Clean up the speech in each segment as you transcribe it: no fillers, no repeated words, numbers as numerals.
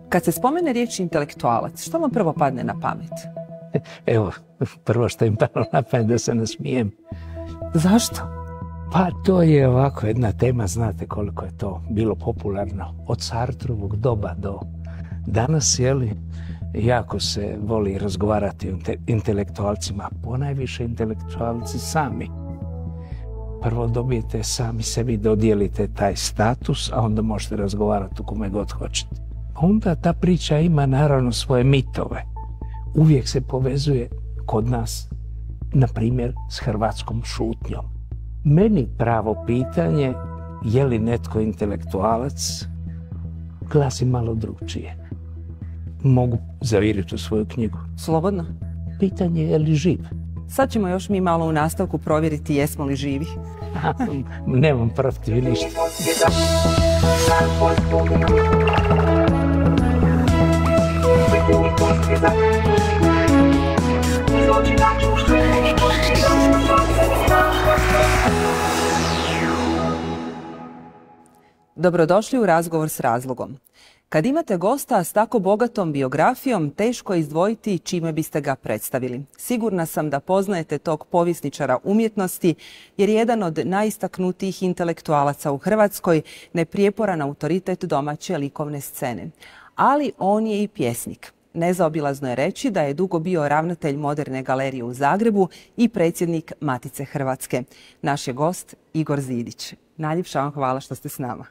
Kad se spomene riječ intelektualac, što vam prvo padne na pamet? Evo, prvo što im palo na pamet da se nasmijem. Zašto? Pa to je ovako jedna tema, znate koliko je to bilo popularno od Sartrovog doba do danas, jako se voli razgovarati o intelektualcima, ponajviše intelektualci sami. Prvo dobijete sami sebi, dodijelite taj status, a onda možete razgovarati o kome god hoćete. Onda ta priča ima naravno svoje mitove. Uvijek se povezuje kod nas, na primjer, s hrvatskom šutnjom. Meni pravo pitanje, je li netko intelektualac, glasi malo drugčije. Mogu zaviriti u svoju knjigu. Slobodno. Pitanje je li živ? Sad ćemo još mi malo u nastavku provjeriti jesmo li živi. Nemam protiv ništa. Dobrodošli u Razgovor s razlogom. Kad imate gosta s tako bogatom biografijom, teško je izdvojiti čime biste ga predstavili. Sigurna sam da poznajete tog povjesničara umjetnosti, jer je jedan od najistaknutijih intelektualaca u Hrvatskoj, neprijeporan autoritet domaće likovne scene. Ali on je i pjesnik. Nezaobilazno je reći da je dugo bio ravnatelj Moderne galerije u Zagrebu i predsjednik Matice Hrvatske. Naš je gost Igor Zidić. Najljepša vam hvala što ste s nama.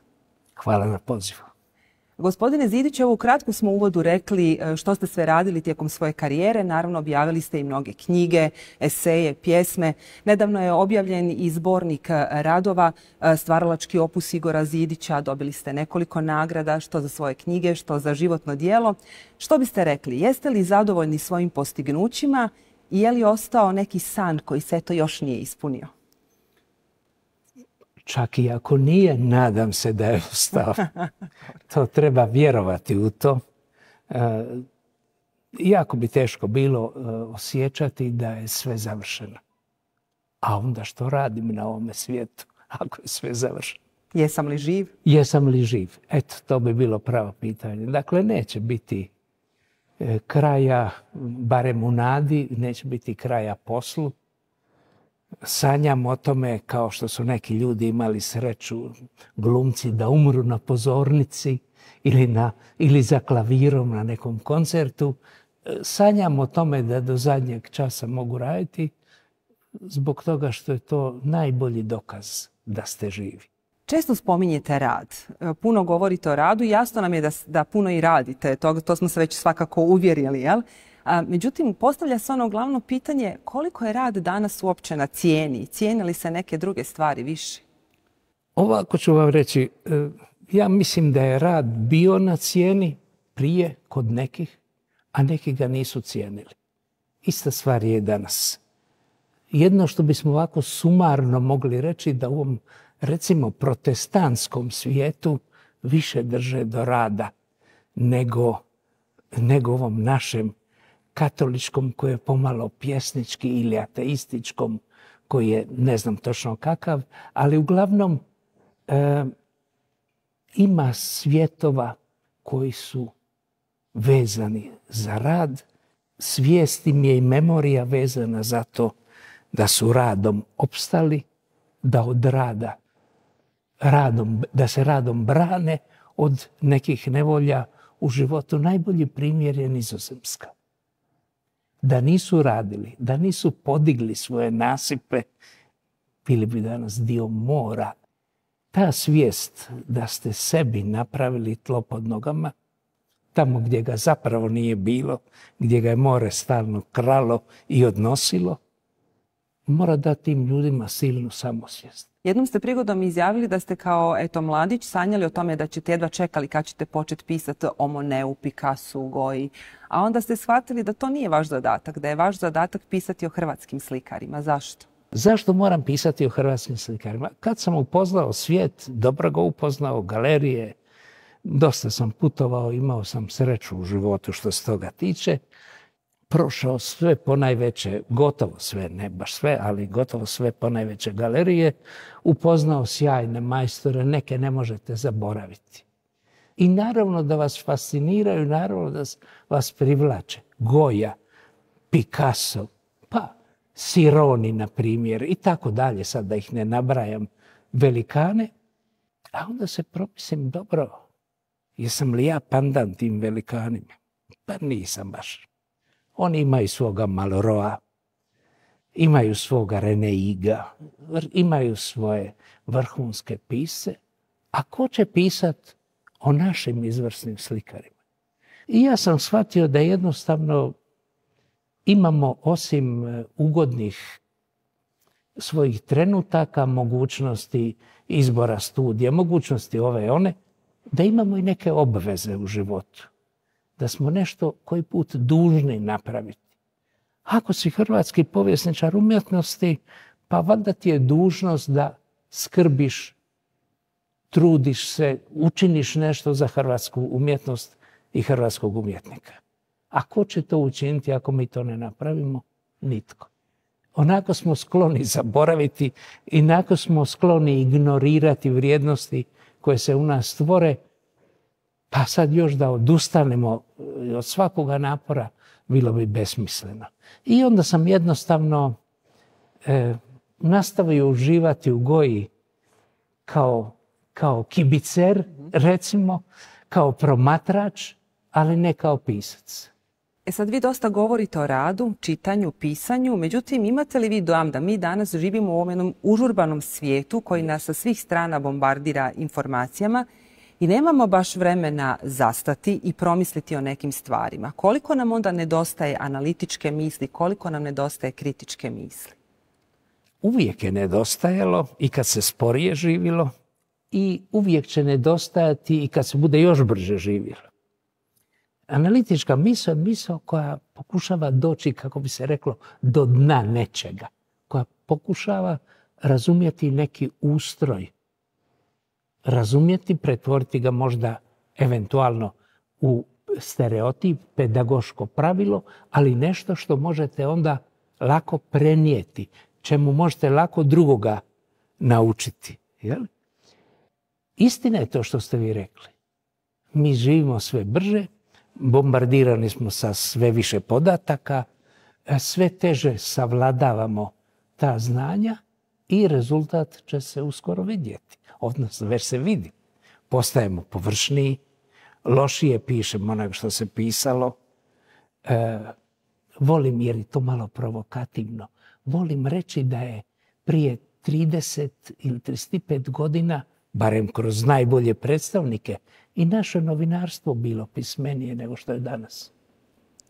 Hvala na pozivu. Gospodine Zidić, evo ukratko smo u uvodu rekli što ste sve radili tijekom svoje karijere. Naravno, objavili ste i mnoge knjige, eseje, pjesme. Nedavno je objavljen i zbornik radova, stvaralački opus Igora Zidića. Dobili ste nekoliko nagrada, što za svoje knjige, što za životno djelo. Što biste rekli? Jeste li zadovoljni svojim postignućima i je li ostao neki san koji se to još nije ispunio? Čak i ako nije, nadam se da je ostao. To treba vjerovati u to. Jako bi teško bilo osjećati da je sve završeno. A onda što radim na ovome svijetu, ako je sve završeno? Jesam li živ? Jesam li živ? Eto, to bi bilo pravo pitanje. Dakle, neće biti kraja, barem u nadi, neće biti kraja poslu. Sanjam o tome, kao što su neki ljudi imali sreću, glumci, da umru na pozornici ili za klavirom na nekom koncertu. Sanjam o tome da do zadnjeg časa mogu raditi, zbog toga što je to najbolji dokaz da ste živi. Često spominjete rad. Puno govorite o radu i jasno nam je da puno i radite. To smo se već svakako uvjerili, jel? Međutim, postavlja se ono glavno pitanje koliko je rad danas uopće na cijeni? Cijene li se neke druge stvari više? Ovako ću vam reći, ja mislim da je rad bio na cijeni prije kod nekih, a neki ga nisu cijenili. Ista stvar je danas. Jedno što bismo ovako sumarno mogli reći da u ovom, recimo, protestantskom svijetu više drže do rada nego ovom našem katoličkom, koji je pomalo pjesnički, ili ateističkom, koji je ne znam točno kakav, ali uglavnom ima svjetova koji su vezani za rad. Svijest im je i memorija vezana za to da su radom opstali, da od da se radom brane od nekih nevolja u životu. Najbolji primjer je Nizozemska. Da nisu radili, da nisu podigli svoje nasipe, bili bi danas dio mora. Ta svijest da ste sebi napravili tlo pod nogama, tamo gdje ga zapravo nije bilo, gdje ga je more stalno kralo i odnosilo, mora dati tim ljudima silnu samosvijest. Jednom ste prigodom izjavili da ste kao mladić sanjali o tome da ćete jedva čekali kad ćete početi pisati o Moneu, Picassu, Goji. A onda ste shvatili da to nije vaš zadatak, da je vaš zadatak pisati o hrvatskim slikarima. Zašto? Zašto moram pisati o hrvatskim slikarima? Kad sam upoznao svijet, dobro ga upoznao, galerije, dosta sam putovao, imao sam sreću u životu što se toga tiče. Prošao sve ponajveće, gotovo sve, ne baš sve, ali gotovo sve ponajveće galerije, upoznao sjajne majstore, neke ne možete zaboraviti. i naravno da vas fasciniraju, naravno da vas privlače. Goya, Picasso, pa Sironi, na primjer, i tako dalje, sad da ih ne nabrajam, velikane. A onda se promislim, dobro, jesam li ja pandan tim velikanima? Pa nisam baš. Oni imaju svoga Malroa, imaju svoga Reneiga, imaju svoje vrhunske pisce, a ko će pisat o našim izvrsnim slikarima? I ja sam shvatio da jednostavno imamo, osim ugodnih svojih trenutaka, mogućnosti izbora studija, mogućnosti ove i one, da imamo i neke obveze u životu. Da smo nešto koji put dužni napraviti. Ako si hrvatski povjesničar umjetnosti, pa valjda ti je dužnost da skrbiš, trudiš se, učiniš nešto za hrvatsku umjetnost i hrvatskog umjetnika. A ko će to učiniti ako mi to ne napravimo? Nitko. Onako smo skloni zaboraviti, inako smo skloni ignorirati vrijednosti koje se u nas stvore, pa sad još da odustanemo od svakoga napora bilo bi besmisleno. I onda sam jednostavno nastavio uživati u Goyi kao kibicer, recimo, kao promatrač, ali ne kao pisac. Sad vi dosta govorite o radu, čitanju, pisanju, međutim imate li vi dojam da mi danas živimo u ovom jednom užurbanom svijetu koji nas sa svih strana bombardira informacijama i nemamo baš vremena zastati i promisliti o nekim stvarima? Koliko nam onda nedostaje analitičke misli, koliko nam nedostaje kritičke misli? Uvijek je nedostajalo i kad se sporije živjelo i uvijek će nedostajati i kad se bude još brže živjelo. Analitička misao je misao koja pokušava doći, kako bi se reklo, do dna nečega. Koja pokušava razumjeti neki ustroj. Razumjeti, pretvoriti ga možda eventualno u stereotip, pedagoško pravilo, ali nešto što možete onda lako prenijeti, čemu možete lako drugoga naučiti. Jel? Istina je to što ste vi rekli. Mi živimo sve brže, bombardirani smo sa sve više podataka, sve teže savladavamo ta znanja i rezultat će se uskoro vidjeti. Odnosno, već se vidi. Postajemo površniji, lošije pišemo onog što se pisalo. Volim, jer je to malo provokativno, volim reći da je prije 30 ili 35 godina, barem kroz najbolje predstavnike, i naše novinarstvo bilo pismenije nego što je danas.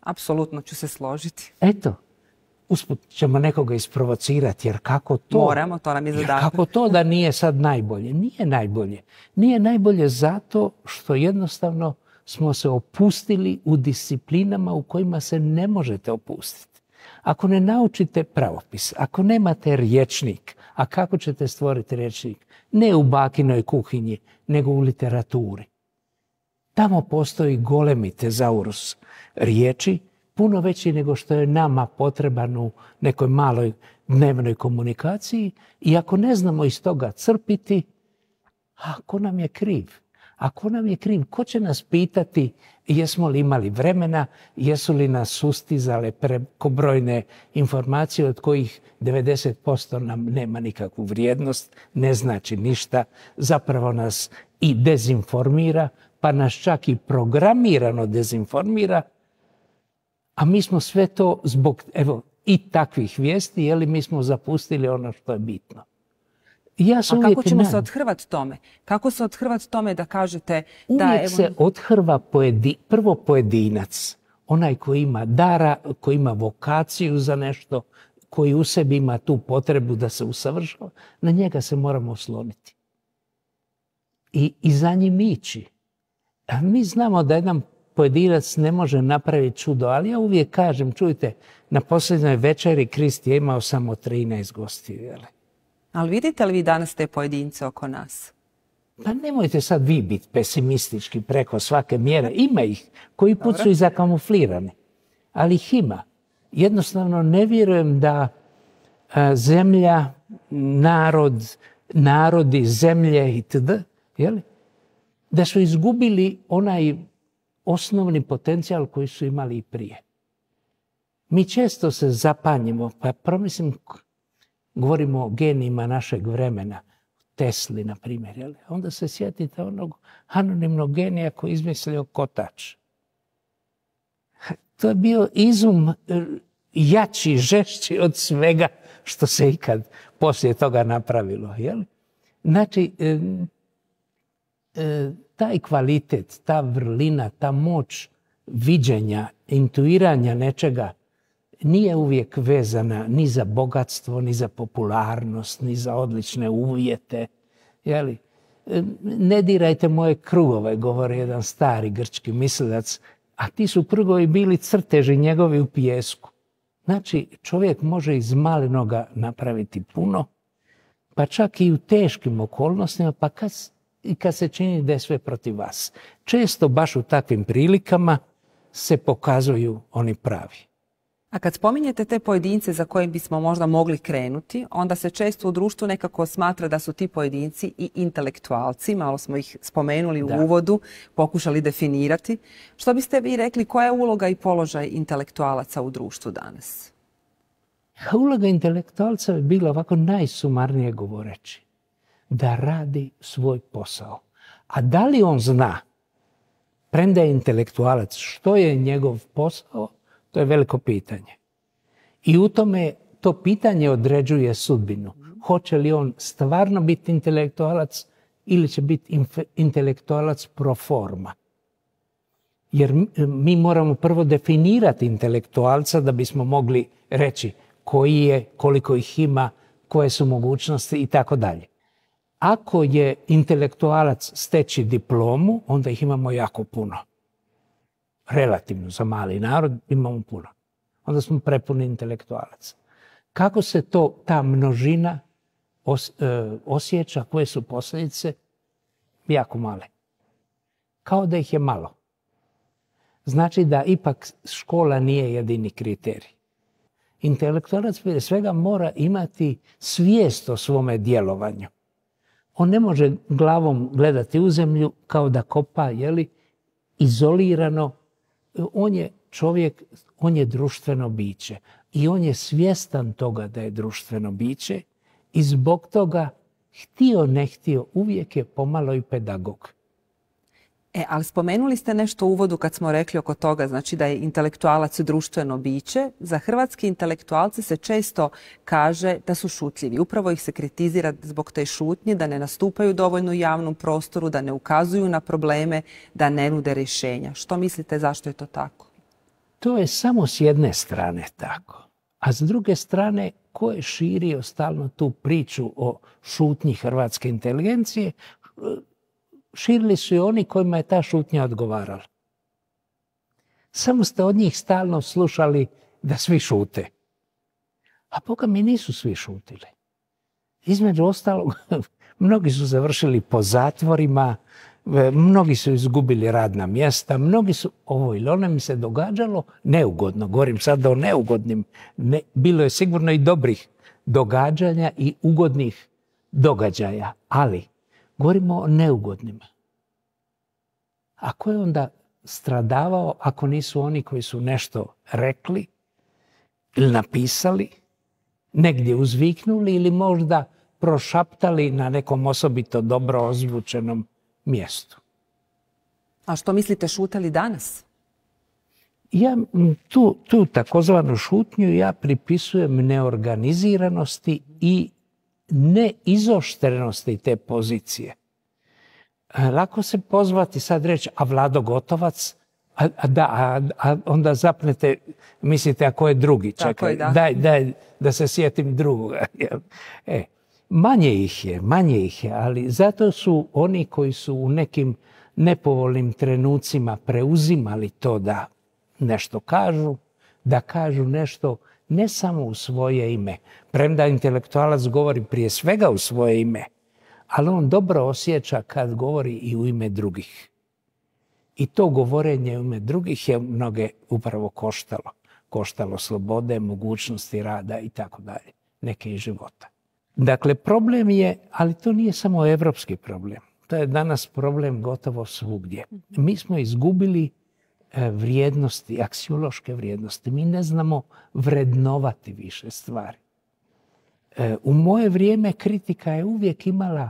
Apsolutno ću se složiti. Eto, usput ćemo nekoga isprovocirati, jer kako to? Moramo, to nam je zadatak. Kako to da nije sad najbolje? Nije najbolje. Nije najbolje zato što jednostavno smo se opustili u disciplinama u kojima se ne možete opustiti. Ako ne naučite pravopis, ako nemate rječnik, a kako ćete stvoriti rječnik? Ne u bakinoj kuhinji, nego u literaturi. Tamo postoji golemi tezaurus riječi, puno veći nego što je nama potreban u nekoj maloj dnevnoj komunikaciji, i ako ne znamo iz toga crpiti, a ko nam je kriv? Ako nam je kriv, ko će nas pitati jesmo li imali vremena, jesu li nas sustizale prekobrojne informacije od kojih 90% nam nema nikakvu vrijednost, ne znači ništa, zapravo nas i dezinformira, pa nas čak i programirano dezinformira, a mi smo sve to zbog i takvih vijesti, jeli mi smo zapustili ono što je bitno. A kako ćemo se othrvati tome? Kako se othrvati tome da kažete da... Uvijek se othrva prvo pojedinac, onaj koji ima dara, koji ima vokaciju za nešto, koji u sebi ima tu potrebu da se usavršava, na njega se moramo osloniti. I za njim ići. A mi znamo da jedan pojedinac ne može napraviti čudo, ali ja uvijek kažem, čujte, na posljednjoj večeri Krist je imao samo 13 gostiju, jel? Ali vidite li vi danas te pojedince oko nas? Pa nemojte sad vi biti pesimistički preko svake mjere. Ima ih koji put su i zakamuflirani, ali ih ima. Jednostavno ne vjerujem da zemlja, narodi, zemlje itd. da su izgubili onaj osnovni potencijal koji su imali i prije. Mi često se zapanjimo, pa promislim, govorimo o genijima našeg vremena, Tesli, na primjer. Onda se sjetite onog anonimnog genija koji je izmislio kotač. To je bio izum jači, žešći od svega što se ikad poslije toga napravilo. Znači, taj kvalitet, ta vrlina, ta moć viđenja, intuiranja nečega nije uvijek vezana ni za bogatstvo, ni za popularnost, ni za odlične uvjete. Ne dirajte moje krugove, govori jedan stari grčki mislilac, a ti su krugovi bili crteži njegovi u pijesku. Znači, čovjek može iz malenoga napraviti puno, pa čak i u teškim okolnostima, pa kad se čini da je sve protiv vas. Često baš u takvim prilikama se pokazuju oni pravi. A kad spominjete te pojedince za koje bismo možda mogli krenuti, onda se često u društvu nekako smatra da su ti pojedinci i intelektualci. Malo smo ih spomenuli u uvodu, pokušali definirati. Što biste vi rekli, koja je uloga i položaj intelektualaca u društvu danas? Uloga intelektualca je bila ovako najsumarnije govoreći. Da radi svoj posao. A da li on zna, premda je intelektualac, što je njegov posao, to je veliko pitanje. I u tome to pitanje određuje sudbinu. Hoće li on stvarno biti intelektualac ili će biti intelektualac pro forma. Jer mi moramo prvo definirati intelektualca da bismo mogli reći koji je, koliko ih ima, koje su mogućnosti i tako dalje. Ako je intelektualac steći diplomu, onda ih imamo jako puno. Relativno za mali narod imamo puno. Onda smo prepuni intelektualaca. Kako se ta množina osjeća, koje su posljedice? Jako male. Kao da ih je malo. Znači da ipak škola nije jedini kriterij. Intelektualac prije svega mora imati svijest o svome djelovanju. On ne može glavom gledati u zemlju kao da kopa, izolirano. On je čovjek, on je društveno biće. I on je svjestan toga da je društveno biće i zbog toga, htio ne htio, uvijek je pomalo i pedagog. Ali spomenuli ste nešto u uvodu kad smo rekli oko toga, znači da je intelektualac društveno biće. Za hrvatski intelektualce se često kaže da su šutljivi. Upravo ih se kritizira zbog te šutnje, da ne nastupaju dovoljno u javnom prostoru, da ne ukazuju na probleme, da ne nude rješenja. Što mislite zašto je to tako? To je samo s jedne strane tako. A s druge strane, ko je širio stalno tu priču o šutnji hrvatske inteligencije, širili su i oni kojima je ta šutnja odgovarala. Samo ste od njih stalno slušali da svi šute. A Boga mi nisu svi šutili. Između ostalog, mnogi su završili po zatvorima, mnogi su izgubili radna mjesta, mnogi su, ovo ili ono mi se događalo neugodno. Govorim sad o neugodnim. Bilo je sigurno i dobrih događanja i ugodnih događaja, ali govorimo o neugodnima. A ko je onda stradavao ako nisu oni koji su nešto rekli ili napisali, negdje uzviknuli ili možda prošaptali na nekom osobito dobro ozvučenom mjestu. A što mislite, šute li danas? Ja tu takozvanu šutnju ja pripisujem neorganiziranosti i neizoštrenosti te pozicije. Lako se pozvati sad reći, a Vlado Gotovac, a onda zapnete, mislite, a ko je drugi? Čekaj, daj da se sjetim drugoga. Manje ih je, ali zato su oni koji su u nekim nepovoljnim trenucima preuzimali to da nešto kažu, da kažu nešto ne samo u svoje ime, premda intelektualac govori prije svega u svoje ime, ali on dobro osjeća kad govori i u ime drugih. I to govorenje u ime drugih je mnoge upravo koštalo. Koštalo slobode, mogućnosti rada i tako dalje, neke i života. Dakle, problem je, ali to nije samo evropski problem. To je danas problem gotovo svugdje. Mi smo izgubili vrijednosti, aksiološke vrijednosti. Mi ne znamo vrednovati više stvari. U moje vrijeme kritika je uvijek imala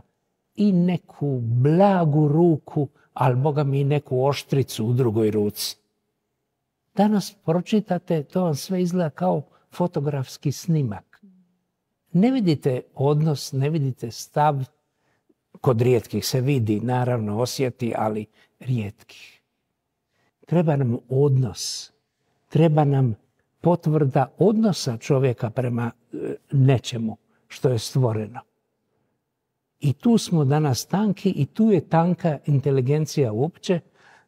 i neku blagu ruku, ali Boga mi i neku oštricu u drugoj ruci. Danas pročitate, to vam sve izgleda kao fotografski snimak. Ne vidite odnos, ne vidite stav. Kod rijetkih se vidi, naravno osjeti, ali rijetkih. Treba nam odnos, treba nam potvrda odnosa čovjeka prema nečemu što je stvoreno. I tu smo danas tanki i tu je tanka inteligencija uopće,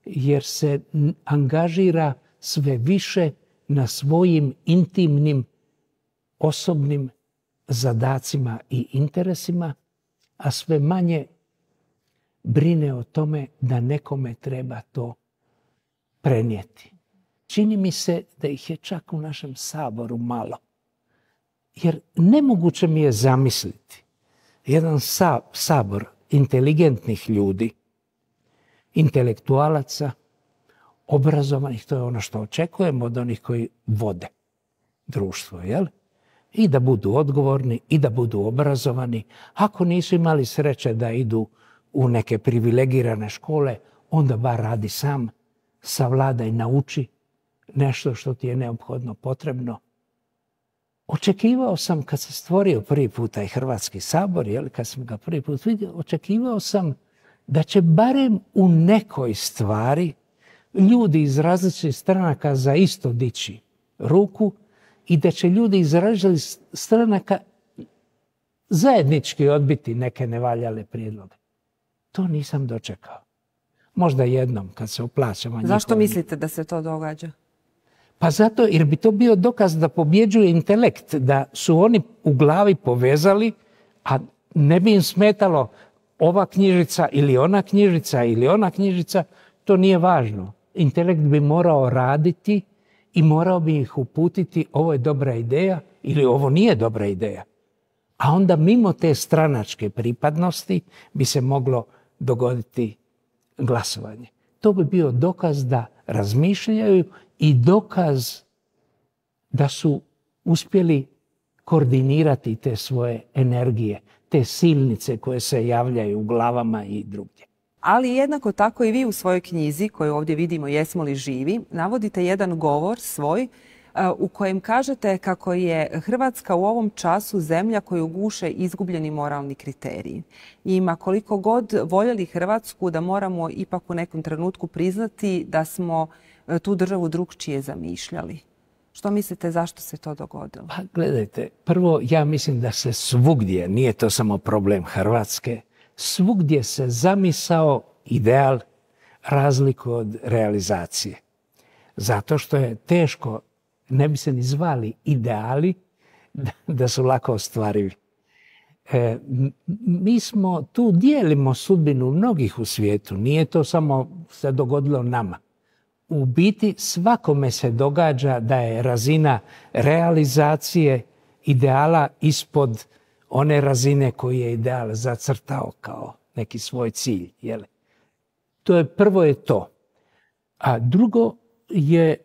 jer se angažira sve više na svojim intimnim, osobnim zadacima i interesima, a sve manje brine o tome da nekome treba to prenijeti. Čini mi se da ih je čak u našem Saboru malo. Jer nemoguće mi je zamisliti jedan sabor inteligentnih ljudi, intelektualaca, obrazovanih, to je ono što očekujemo od onih koji vode društvo, jel? I da budu odgovorni, i da budu obrazovani. Ako nisu imali sreće da idu u neke privilegirane škole, onda bar radi sam, savladaj i nauči nešto što ti je neophodno potrebno. Očekivao sam, kad se stvorio prvi puta i Hrvatski sabor, kad sam ga prvi put vidio, očekivao sam da će barem u nekoj stvari ljudi iz različitih stranaka za isto dići ruku i da će ljudi iz različitih stranaka zajednički odbiti neke nevaljale prijedloge. To nisam dočekao. Možda jednom kad se oplaćamo. Zašto mislite da se to događa? Pa zato jer bi to bio dokaz da pobjeđuje intelekt, da su oni u glavi povezali, a ne bi im smetalo ova knjižica ili ona knjižica ili ona knjižica, to nije važno. Intelekt bi morao raditi i morao bi ih uputiti ovo je dobra ideja ili ovo nije dobra ideja. A onda mimo te stranačke pripadnosti bi se moglo dogoditi glasovanje. To bi bio dokaz da razmišljaju i dokaz da su uspjeli koordinirati te svoje energije, te silnice koje se javljaju u glavama i drugdje. Ali jednako tako i vi u svojoj knjizi, koju ovdje vidimo Jesmo li živi, navodite jedan govor svoj u kojem kažete kako je Hrvatska u ovom času zemlja koju guše izgubljeni moralni kriteriji. I ma koliko god voljeli Hrvatsku, da moramo ipak u nekom trenutku priznati da smo tu državu drukčije zamišljali. Što mislite, zašto se to dogodilo? Pa gledajte, prvo ja mislim da se svugdje, nije to samo problem Hrvatske, svugdje se zamisao ideal razliku od realizacije. Zato što je teško, ne bi se ni zvali ideali, da su lako ostvarivi. Mi smo tu dijelimo sudbinu mnogih u svijetu, nije to samo se dogodilo nama. U biti svakome se događa da je razina realizacije ideala ispod one razine koju je ideal zacrtao kao neki svoj cilj. Prvo je to. A drugo je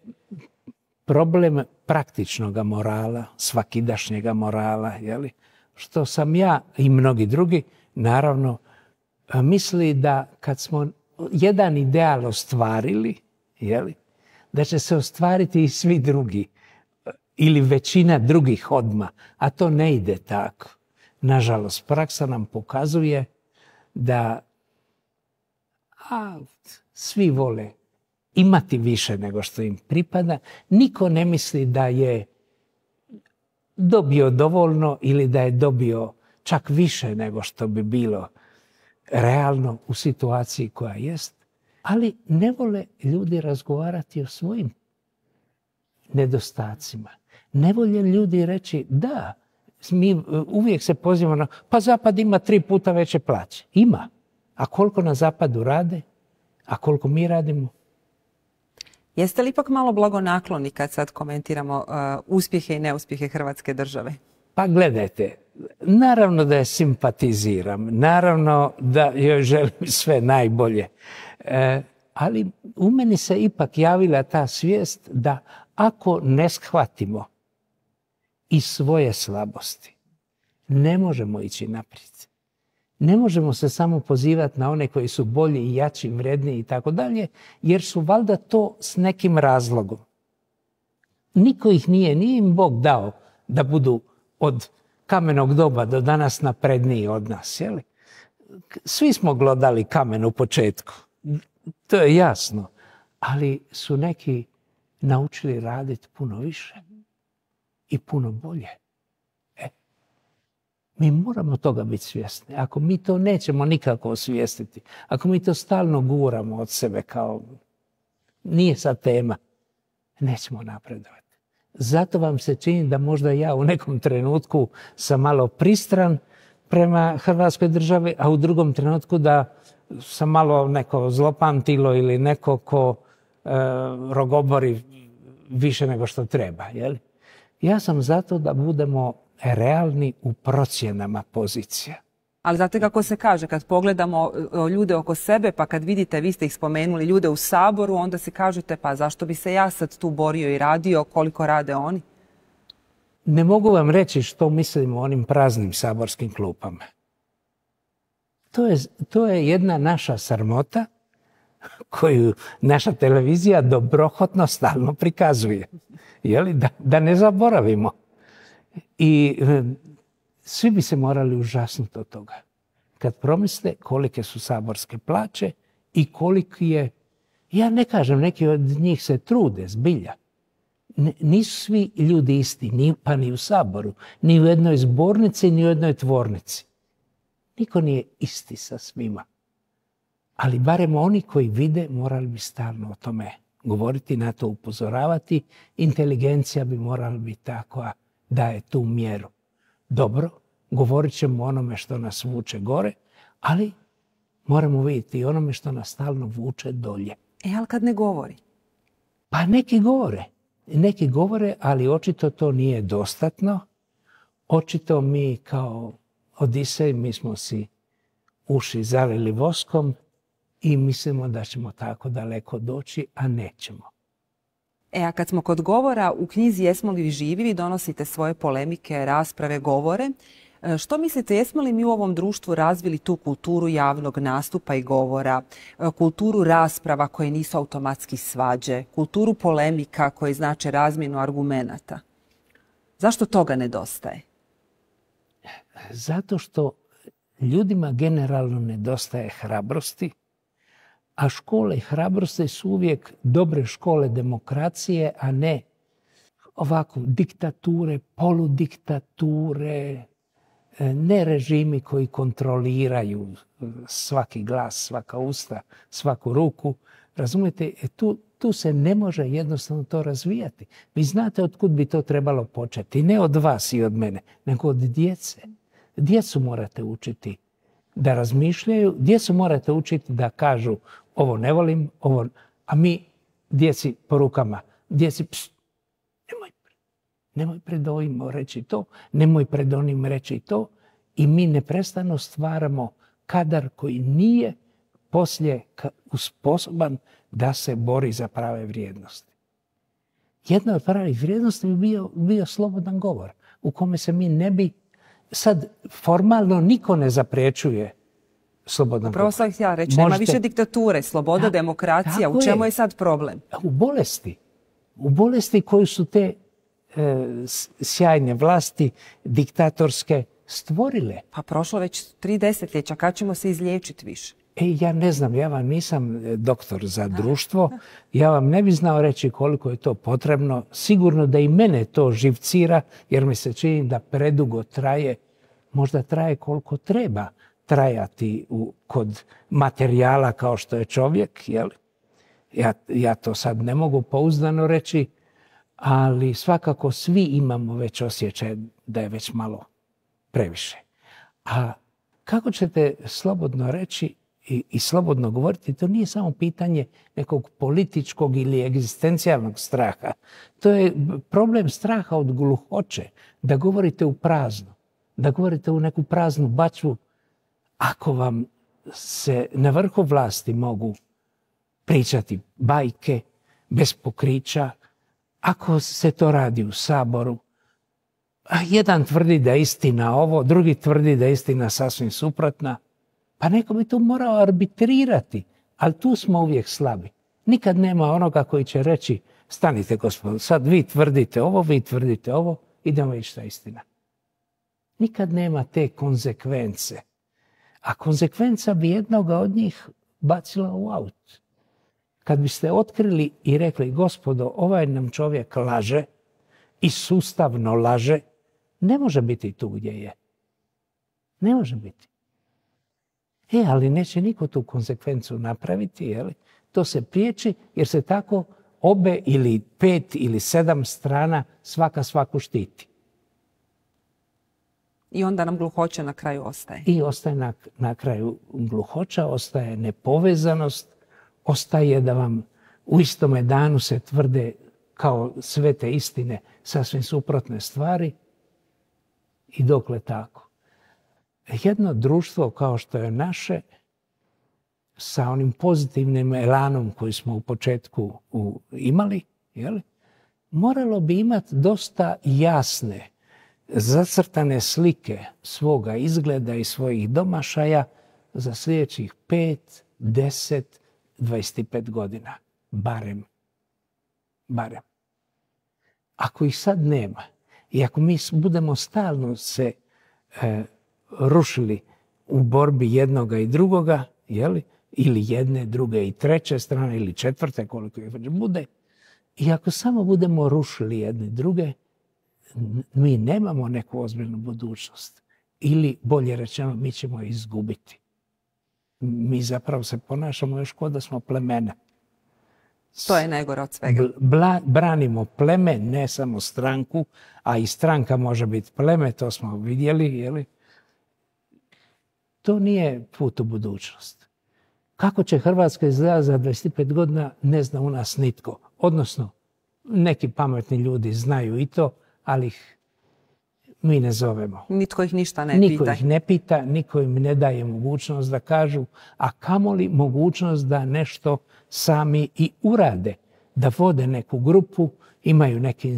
problem praktičnog morala, svakidašnjega morala, što sam ja i mnogi drugi, naravno, misli da kad smo jedan ideal ostvarili, da će se ostvariti i svi drugi ili većina drugih odmah, a to ne ide tako. Nažalost, praksa nam pokazuje da svi vole imati više nego što im pripada. Niko ne misli da je dobio dovoljno ili da je dobio čak više nego što bi bilo realno u situaciji koja jest. Ali ne vole ljudi razgovarati o svojim nedostacima. Ne vole ljudi reći da, mi uvijek se pozivamo na pa Zapad ima 3 puta veće plaće. Ima. A koliko na Zapadu rade? A koliko mi radimo? Jeste li ipak malo blagonakloni kad sad komentiramo uspjehe i neuspjehe Hrvatske države? Pa gledajte, naravno da je simpatiziram, naravno da joj želim sve najbolje, ali u meni se ipak javila ta svijest da ako ne shvatimo i svoje slabosti, ne možemo ići naprijed. Ne možemo se samo pozivati na one koji su bolji i jači, vredniji i tako dalje, jer su valjda to s nekim razlogom. Niko ih nije im Bog dao da budu od kamenog doba do danas napredniji od nas. Jeli? Svi smo glodali kamen u početku, to je jasno, ali su neki naučili raditi puno više i puno bolje. Mi moramo toga biti svjesni. Ako mi to nećemo nikako osvijestiti, ako mi to stalno guramo od sebe kao nije sad tema, nećemo napredovati. Zato vam se čini da možda ja u nekom trenutku sam malo pristran prema Hrvatskoj državi, a u drugom trenutku da sam malo neko zlopamtilo ili neko ko rogobori više nego što treba. Jeli? Ja sam zato da budemo realni u procjenama pozicija. Ali znate kako se kaže, kad pogledamo ljude oko sebe, pa kad vidite, vi ste ih spomenuli, ljude u Saboru, onda si kažete, pa zašto bi se ja sad tu borio i radio koliko rade oni? Ne mogu vam reći što mislim o onim praznim saborskim klupama. To je jedna naša sramota koju naša televizija dobrohotno stalno prikazuje. Jeli? Da ne zaboravimo. I svi bi se morali užasnuti od toga. Kad promisle kolike su saborske plaće i koliki je, ja ne kažem, neki od njih se trude, zbilja. Nisu svi ljudi isti, pa ni u Saboru, ni u jednoj zbornici, ni u jednoj tvornici. Niko nije isti sa svima. Ali barem oni koji vide morali bi stalno o tome govoriti, na to upozoravati. Inteligencija bi morala biti takva daje tu mjeru. Dobro, govorit ćemo o onome što nas vuče gore, ali moramo vidjeti i onome što nas stalno vuče dolje. Ali kad ne govori? Pa neki govore, ali očito to nije dostatno. Očito mi kao Odisej, mi smo si uši zalili voskom i mislimo da ćemo tako daleko doći, a nećemo. A kad smo kod govora, u knjizi Jesmo li živi, vi donosite svoje polemike, rasprave, govore. Što mislite, jesmo li mi u ovom društvu razvili tu kulturu javnog nastupa i govora, kulturu rasprava koje nisu automatski svađe, kulturu polemika koje znače razmjenu argumenata? Zašto toga nedostaje? Zato što ljudima generalno nedostaje hrabrosti, a škole hrabrosti su uvijek dobre škole demokracije, a ne ovako diktature, poludiktature, ne režimi koji kontroliraju svaki glas, svaka usta, svaku ruku. Razumijete, tu se ne može jednostavno to razvijati. Vi znate od kud bi to trebalo početi. Ne od vas i od mene, nego od djece. Djecu morate učiti da razmišljaju, djecu morate učiti da kažu ovo ne volim, a mi djeci po rukama, djeci nemoj pred ovim reći to, nemoj pred onim reći to i mi neprestano stvaramo kadar koji nije poslije sposoban da se bori za prave vrijednosti. Jedna od pravih vrijednosti bi bio slobodan govor u kome se mi ne bi, sad formalno niko ne zapriječuje slobodan govor. Upravo sam htjela reći, nema više diktature, sloboda, demokracija, u čemu je sad problem? U bolesti koju su te sjajne vlasti diktatorske stvorile. Pa prošlo već 3 desetljeća, kad ćemo se izliječiti više? Ja ne znam, ja vam nisam doktor za društvo, ja vam ne bi znao reći koliko je to potrebno. Sigurno da i mene to živcira, jer mi se čini da predugo traje, možda traje koliko treba trajati kod materijala kao što je čovjek. Jel? Ja to sad ne mogu pouzdano reći, ali svakako svi imamo već osjećaj da je već malo previše. A kako ćete slobodno reći, i slobodno govoriti, to nije samo pitanje nekog političkog ili egzistencijalnog straha. To je problem straha od gluhoće, da govorite u prazno, da govorite u neku praznu bačvu. Ako vam se na vrhu vlasti mogu pričati bajke bez pokrića, ako se to radi u Saboru, a jedan tvrdi da je istina ovo, drugi tvrdi da je istina sasvim suprotna, pa neko bi to morao arbitrirati, ali tu smo uvijek slabi. Nikad nema onoga koji će reći, stanite gospodo, sad vi tvrdite ovo, idemo vidjeti šta je istina. Nikad nema te konzekvence. A konzekvenca bi jednoga od njih bacila u aut. Kad biste otkrili i rekli, gospodo, ovaj nam čovjek laže i sustavno laže, ne može biti tu gdje je. Ne može biti. Ali neće niko tu konsekvencu napraviti, jeli? To se priječi jer se tako obe ili 5 ili 7 strana svaka svaku štiti. I onda nam gluhoća na kraju ostaje. I ostaje na kraju gluhoća, ostaje nepovezanost, ostaje da vam u istome danu se tvrde kao sve te istine sasvim suprotne stvari. I dokle tako. Jedno društvo kao što je naše, sa onim pozitivnim elanom koji smo u početku imali, moralo bi imati dosta jasne, zacrtane slike svoga izgleda i svojih domašaja za sljedećih 5, 10, 25 godina. Barem. Ako ih sad nema i ako mi budemo stalno se rušili u borbi jednoga i drugoga, ili jedne, druge i treće strane, ili četvrte, koliko ih već bude, i ako samo budemo rušili jedne druge, mi nemamo neku ozbiljnu budućnost. Ili, bolje rečeno, mi ćemo je izgubiti. Mi zapravo se ponašamo još kao da smo plemena. To je najgore od svega. Branimo pleme, ne samo stranku, a i stranka može biti pleme, to smo vidjeli. To nije put u budućnost. Kako će Hrvatska izgledati za 25 godina, ne zna u nas nitko. Odnosno, neki pametni ljudi znaju i to, ali ih mi ne zovemo. Nitko ih ništa ne pita. Niko ih ne pita, niko im ne daje mogućnost da kažu, a kamoli mogućnost da nešto sami i urade. Da vode neku grupu, imaju neki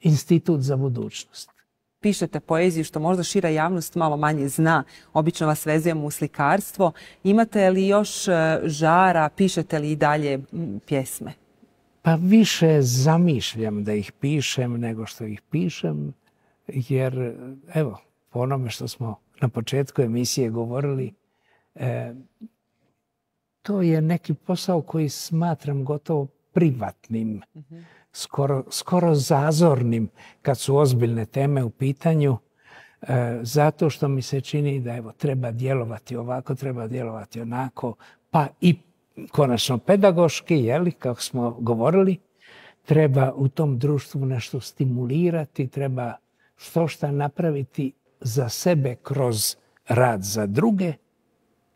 institut za budućnost. Pišete poeziju što možda šira javnost malo manje zna. Obično vas vezujemo u slikarstvo. Imate li još žara, pišete li i dalje pjesme? Pa više zamišljam da ih pišem nego što ih pišem, jer evo, po onome što smo na početku emisije govorili, to je neki posao koji smatram gotovo privatnim, skoro zazornim kad su ozbiljne teme u pitanju, zato što mi se čini da evo, treba djelovati ovako, treba djelovati onako, pa i konačno pedagoški, kako smo govorili, treba u tom društvu nešto stimulirati, treba što napraviti za sebe kroz rad za druge.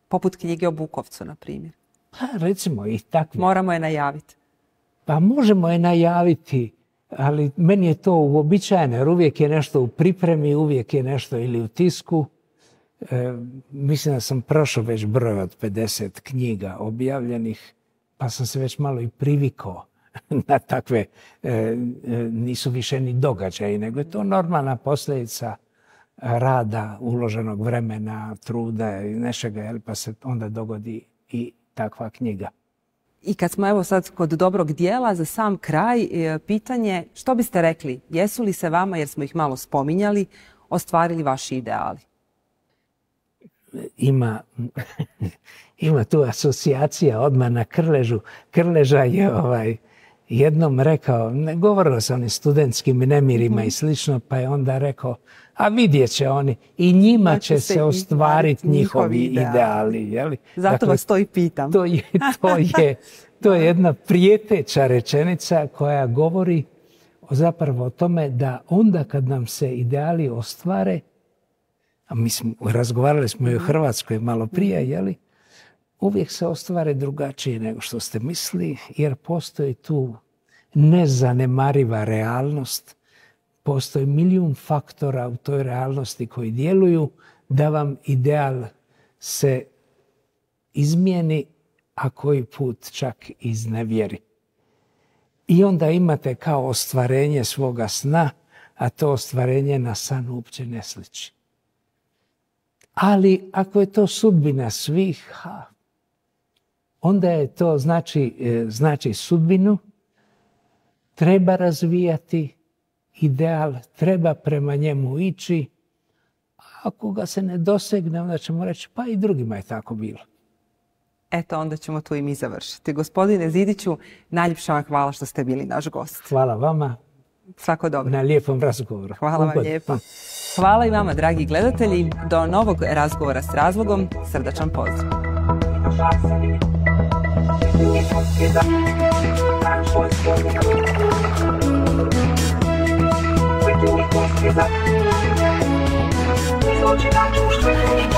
Poput knjige o Bukovcu, na primjer. Pa recimo i takve. Moramo je najaviti. Pa možemo je najaviti, ali meni je to uobičajeno, jer uvijek je nešto u pripremi, uvijek je nešto ili u tisku. Mislim da sam prošao već broj od 50 knjiga objavljenih, pa sam se već malo i privikao na takve, nisu više ni događaji, nego je to normalna posljedica rada, uloženog vremena, truda i nečega, pa se onda dogodi i takva knjiga. I kad smo evo sad kod dobrog dijela, za sam kraj, pitanje što biste rekli, jesu li se vama, jer smo ih malo spominjali, ostvarili vaši ideali? Ima tu asocijacija odmah na Krležu. Krleža je jednom rekao, govorilo se o onim studentskim nemirima i slično, pa je onda rekao, a vidjet će oni i njima će se ostvariti njihovi ideali. Zato vas to i pitam. To je jedna prijeteća rečenica koja govori zapravo o tome da onda kad nam se ideali ostvare, a razgovarali smo i o Hrvatskoj malo prije, uvijek se ostvare drugačije nego što ste mislili, jer postoji tu nezanemariva realnost, postoji milijun faktora u toj realnosti koji djeluju da vam ideal se izmijeni, a koji put čak iznevjeri. I onda imate kao ostvarenje svoga sna, a to ostvarenje na san uopće ne sliči. Ali ako je to sudbina svih, onda je to znači sudbinu, treba razvijati ideal, treba prema njemu ići, a ako ga se ne dosegne, onda ćemo reći pa i drugima je tako bilo. Eto, onda ćemo tu i mi završiti. Gospodine Zidiću, najljepša vam hvala što ste bili naš gost. Hvala vama. Svako dobro. Na lijepom razgovoru. Hvala vam lijepo. Hvala i vama, dragi gledatelji. Do novog razgovora s razlogom. Srdačan pozdrav. Izloči na društvenih